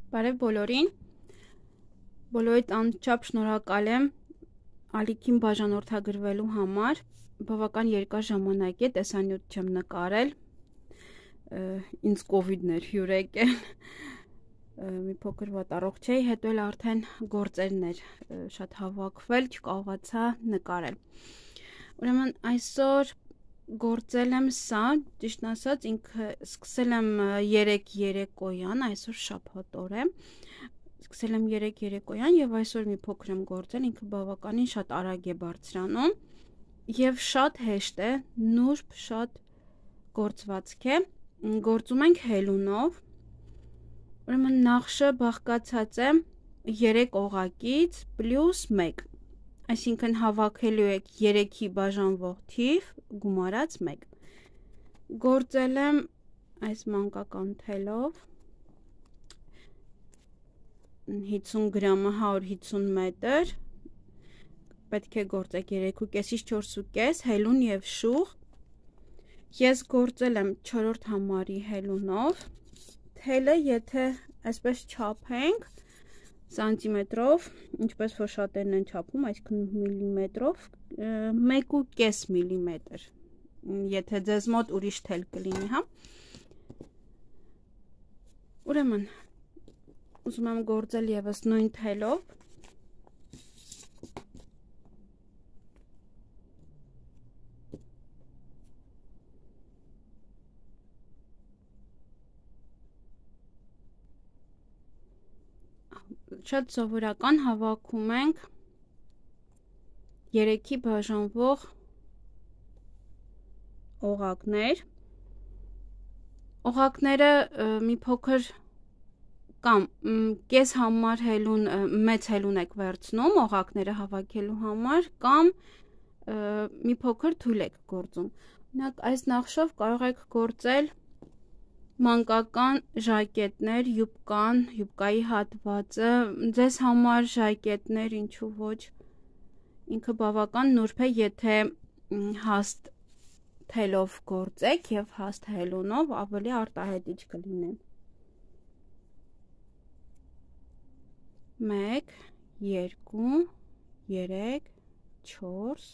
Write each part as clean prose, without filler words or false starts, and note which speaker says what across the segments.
Speaker 1: Բարև բոլորին, բոլորիդ անչափ շնորհակալ եմ ալիքին բաժանորդագրվելու համար, բավական երկար ժամանակ է տեսանյութ չեմ նկարել, ինձ կովիդն էր հյուր եկել, մի փոքր վատառողջ էի, հետո էլ արդեն գործերն էր շատ հավաքվել, չկարողացա նկարել, ուրեմն այսօր գործել եմ սա, ճիշտ ասած ինքը սկսել եմ 3 երեկոյան, այսօր շաբաթ օր է, սկսել եմ 3 երեկոյան եւ այսօր մի փոքր եմ գործել, ինքը բավականին շատ արագ է բարձրանում եւ շատ հեշտ է, նուրբ շատ գործվածք է, գործում ենք հելունով, ուրեմն նախշը բաղկացած է 3 օղակից պլյուս 1, այսինքն հավաքելու եք 3-ի բաժանվող թիվ գումարած 1, գործել եմ այս մանկական թելով, 50 գրամը 150 մետր, պետք է գործեք 3.5-ից 4.5 հելուն եւ շուղ, ես գործել եմ 4-րդ համարի հելունով, թելը եթե այսպես չափենք սանտիմետրով, ինչպես որ շատերն են չափում, այսինքն միլիմետրով, 1.5 միլիմետր, եթե ձեզ մոտ ուրիշ թել կլինի, հա։ Ուրեմն, ուզում եմ գործել եւս նույն թելով, շատ սովորական հավաքում ենք 3-ի բաժանվող օղակներ, օղակները մի փոքր կամ կես համար հելուն, մեծ հելուն եք վերցնում օղակները հավաքելու համար կամ մի փոքր թույլ եք գործում, օրինակ այս նախշով կարող եք գործել մանկական ժակետներ, յուբկան, յուբկայի հատվածը, ձեզ համար ժակետներ, ինչու ոչ, ինքը բավական նուրբ է, եթե հաստ թելով գործեք եւ հաստ հելունով ավելի արտահայտիչ կլինեն։ 1, 2, 3, 4,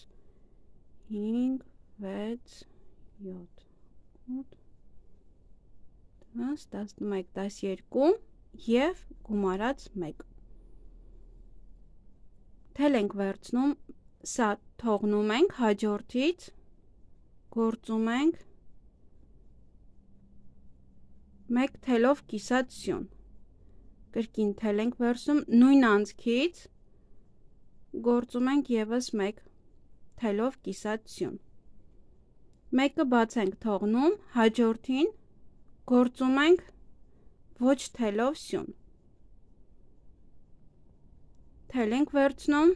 Speaker 1: 5, 6, 7, 8, 10, 11, 12 և գումարած 1, թել ենք վերցնում, սա թողնում ենք հաջորդից, գործում ենք 1 թելով կիսած սյուն, կրկին թել ենք վերցնում, նույն անցքից գործում ենք եւս 1 թելով կիսած սյուն, 1-ը բաց ենք թողնում, հաջորդին գործում ենք ոչ թելով սյուն, թել ենք վերցնում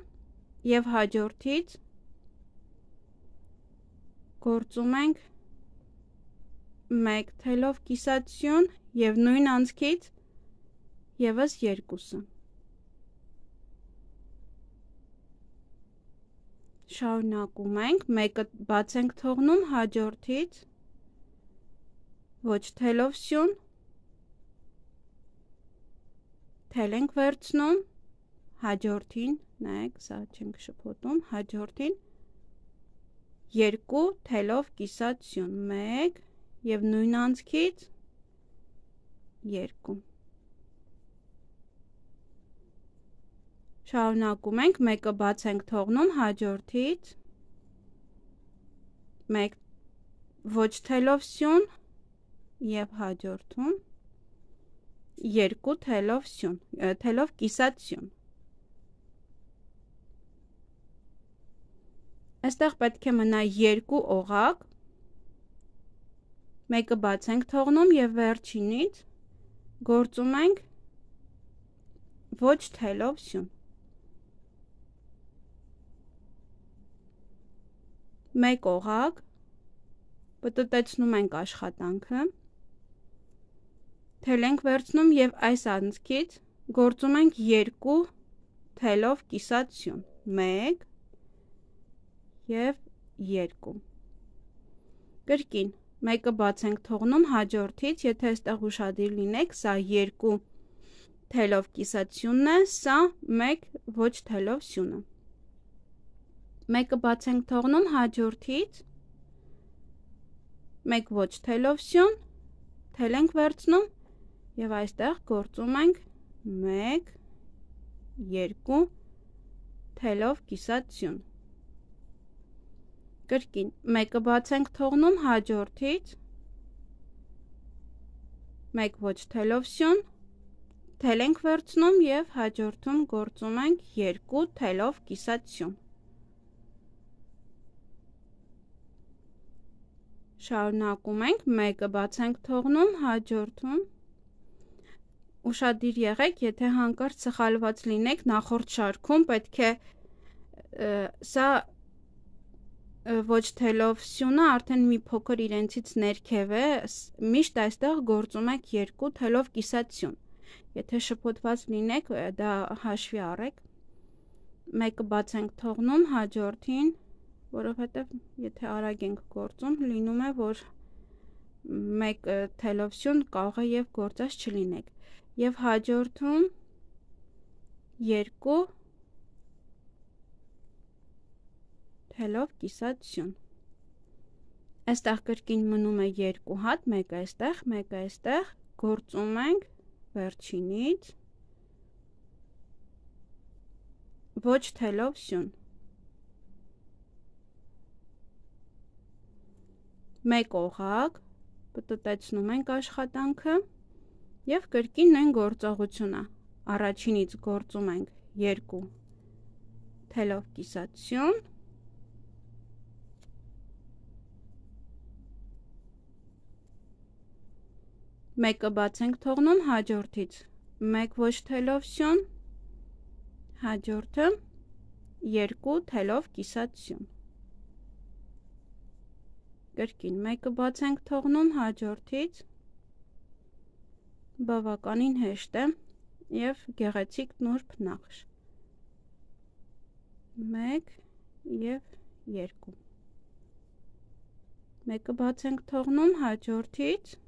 Speaker 1: եւ հաջորդից գործում ենք 1 թելով կիսած սյուն եւ նույն անցքից եւս 2-ը, շարունակում ենք, 1-ը բաց ենք թողնում, հաջորդից ոչ թելով սյուն, թել ենք վերցնում, հաջորդին, նայեք, սա չենք շփոթում, հաջորդին 2 թելով կիսած սյուն, 1 եւ նույն անցքից 2, շարունակում ենք, 1-ը բաց ենք թողնում, հաջորդից 1 ոչ թելով սյուն եւ հաջորդում 2 թելով սյուն, թելով կիսած սյուն, այստեղ պետք է մնա 2 օղակ, 1-ը բաց ենք թողնում եւ վերջինից գործում ենք ոչ թելով սյուն, 1 օղակ, պտտեցնում ենք աշխատանքը, թել ենք վերցնում եւ այս անցքից գործում ենք 2 թելով կիսած սյուն, 1 եւ 2, կրկին, 1-ը բաց ենք թողնում, հաջորդից, եթե այստեղ ուշադիր լինեք, սա 2 թելով կիսացյունն է, սա 1 ոչ թելով սյունը։ Մեկը բաց ենք թողնում հաջորդից, 1 ոչ թելով սյուն, թել ենք վերցնում և այստեղ գործում ենք 1, 2 թելով կիսացյուն։ Կրկին, մեկը բաց ենք թողնում հաջորդից, 1 ոչ թելով սյուն, թել ենք վերցնում և հաջորդում գործում ենք 2 թելով կիսացյուն։ Շարունակում ենք, մեկը բաց ենք թողնում հաջորդում, ուշադիր եղեք, եթե հանկարծ սխալված լինեք նախորդ շարքում, պետք է սա ոչ թելով սյունը արդեն մի փոքր իրենցից ներքև է, միշտ այստեղ գործում եք 2 թելով կիսացյուն։ Եթե շփոթված լինեք, դա հաշվի առեք, մեկը բաց ենք թողնում հաջորդին, որովհետև եթե արագ ենք գործում, լինում է, որ 1 թելով սյուն կարող է և գործած չլինեք, և հաջորդում 2 թելով կիսացյուն։ Այստեղ կրկին մնում է 2 հատ, մեկը այստեղ, գործում ենք վերջինից ոչ թելով սյուն։ 1 օղակ, պտտեցնում ենք աշխատանքը և կրկին նույն գործողությունը, առաջինից գործում ենք 2 թելով կիսացյուն, մեկը բաց ենք թողնում հաջորդից 1 ոչ թելով սյուն, հաջորդը 2 թելով կիսացյուն, կրկին մեկը բաց ենք թողնում հաջորդից, բավականին հեշտ է և գեղեցիկ նուրբ նախշ, 1 և 2, մեկը բաց ենք թողնում հաջորդից,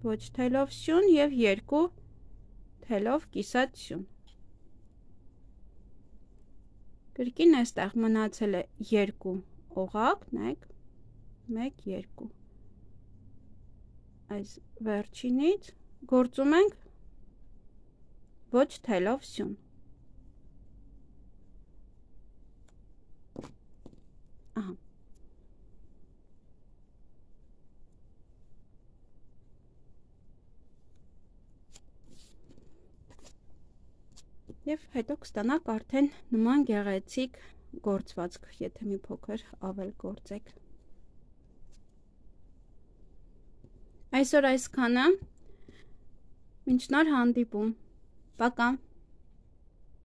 Speaker 1: ոչ թելով սյուն և 2 թելով կիսացյուն, կրկին այստեղ մնացել է 2 օղակ, նայեք, 1, 2, այս վերջինից գործում ենք ոչ թելով սյուն, և հետո կստանաք արդեն նման գեղեցիկ գործվածք, եթե մի փոքր ավել գործեք։ Այսօր այսքանը, մինչ նոր հանդիպում, պակա։